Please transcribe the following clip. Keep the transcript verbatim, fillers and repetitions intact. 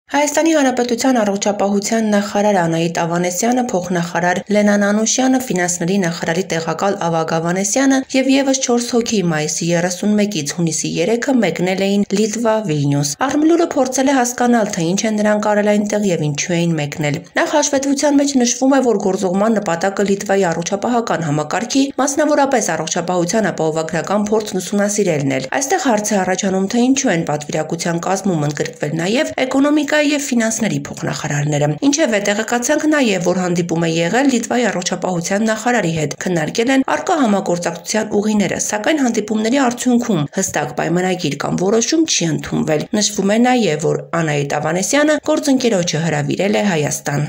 Հայաստանի Հանրապետության առողջապահության նախարար Անահիտ Ավանեսյանը, փոխնախարար Լենան Անուշյանը, ֆինանսների նախարարի տեղակալ Ավագ Ավանեսյանը և ևս չորս հոգի մայիսի երեսունմեկից հունիսի երեքը մեկնել էին Լիտվա, Վիլնյուս։ Աղմլուրը փորձել է հասկանալ, թե ինչ են նրանք արել այնտեղ և ինչու էին մեկնել։ Նախ հաշվետվության մեջ նշվում է, որ գործուղման նպատակը Լիտվայի առողջապահական համակարգի, մասնավորապես առողջապահության ապահովագրական փորձն ուսումնասիրելն էր։ Այստեղ հարց է առաջանում, թե ինչու են պատվիրակության կազմում ընդգրկվել նաև էկոնոմիկայի և ֆինանսների փոխնախարարները։ Ինչևէ, տեղեկացանք նաև, որ հանդիպում է եղել Լիտվայի առողջապահության նախարարի հետ, քննարկել են առկա համագործակցության ուղիները, սակայն հանդիպումների արդյունքում հստակ պայմանագիր կամ որոշում չի ընդունվել։ Նշվում է նաև, որ Անահիտ Ավանեսյանը գործընկերոջը հրավիրել է Հայաստան։